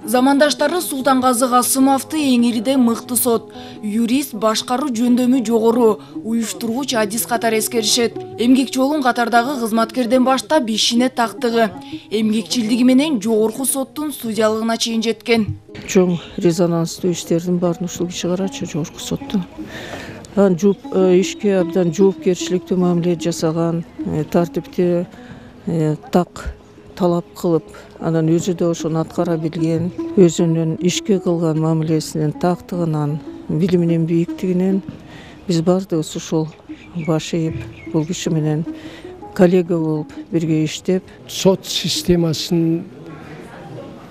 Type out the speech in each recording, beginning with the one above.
Замандаштары Султангазы Касымовду эңириде мыкты сот, юрист, башкаруу жөндөмү жогору, уюштургуч адис катары эскеришет. Эмгек жолун катардагы кызматкерден баштап ишине тактыгы, эмгекчилдиги менен жогорку соттун судьялыгына чейин жеткен. Чоң резонанстуу иштердин баарын ушул киши карачу жогорку соттун. Ишке абдан жоопкерчиликтүү мамиле жасаган, тартипти так талап кылып, анан өзү да ошону аткара билген, өзүнүн ишке кылган мамилесинин тактыгынан, билиминин бийиктигинен биз баардыгыбыз ушул баш ийип, бул киши менен коллега болуп бирге иштеп, сот системасын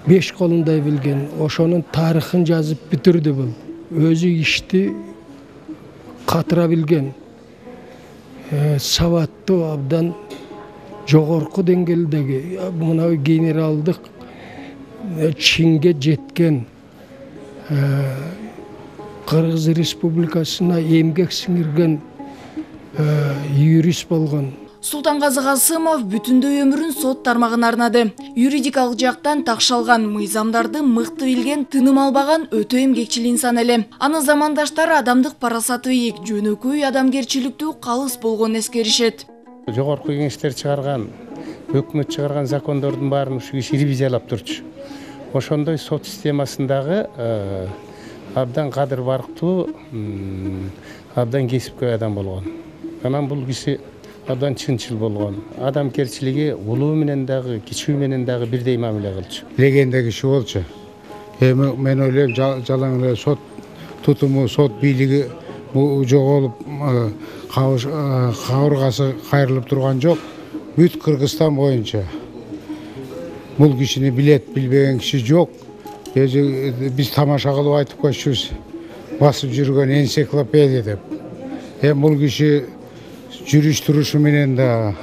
беш колундай билген, ошонун тарыхын жазып бүтүрдү бул. Өзү ишти катыра билген, сабаттуу, абдан жогорку деңгээлдеги, мына генералдык чинге жеткен, Кыргыз Республикасына эмгек сиңирген юрист болгон. Султангазы Касымов бүтүндөй өмүрүн сот тармагына арнады. Юридикалык жактан такшалган, мыйзамдарды мыкты билген, тыным албаган өтө эмгекчил инсан эле. Аны замандаштары адамдык парасаты ийик, жөнөкөй адамгерчиликтүү калыс болгонун эскеришет. Жогорку кеңештер чыгарган, өкмөт чыгарган закондордун баарын ушу киши ревизиялап турчу. Ошондой сот системасындагы абдан кадыр барктуу, абдан кесипкөй адам болгон. Анан бул киши абдан чынчыл болгон. Адамгерчилиги улуу менен дагы, кичүү менен дагы бирдей мамиле кылчу. Легенда киши болчу. Мен ойлойм, жалаң эле сот тутуму, сот бийлиги жоголуп, кабыргасы кайрылып турган жок. Бүт Кыргызстан боюнча бул кишини билет, билбеген киши жок. Биз тамаша кылып айтып койчубуз, басып жүргөн энциклопедия деп. Бул киши жүрүш турушу менен дагы,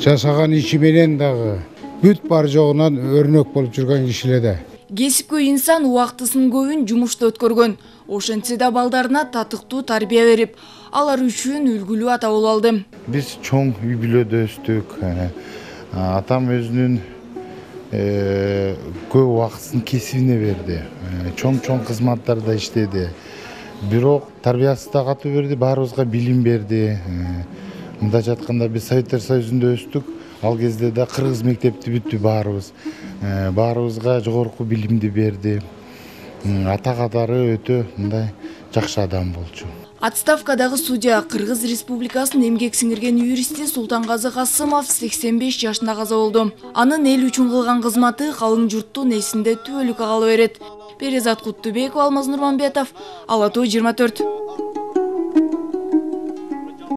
жасаган иши менен дагы бүт бар жогунан өрнөк болуп жүргөн киши эле да. Кесипкөй инсан убактысын көбүн жумушта өткөргөн. Ошентсе да балдарына татыктуу тарбия берип, алар үчүн үлгүлүү ата болуп алды. Биз чоң үй бүлөдө өстүк. Атам өзүнүн көп убактысын кесибине берди. Чоң кызматтарда иштеди. Бирок тарбиясы да катуу берди, баарыбызга билим берди. Мындайча айтканда биз Советтер Союзунда өстүк. Ал кезде да кыргыз мектепти бүттү баарыбыз. Баарыбызга жогорку билимди берди. Ата катары өтө мындай жакшы адам болчу. Отставкадагы судья, Кыргыз Республикасынын эмгек сиңирген юристи Султангазы Касымов 85 жашында каза болду. Анын эл үчүн кылган кызматы калың журттун эсинде түбөлүккө кала берет. Перизат Куттубеков, Алмаз Нурманбетов, Ала Тоо 24.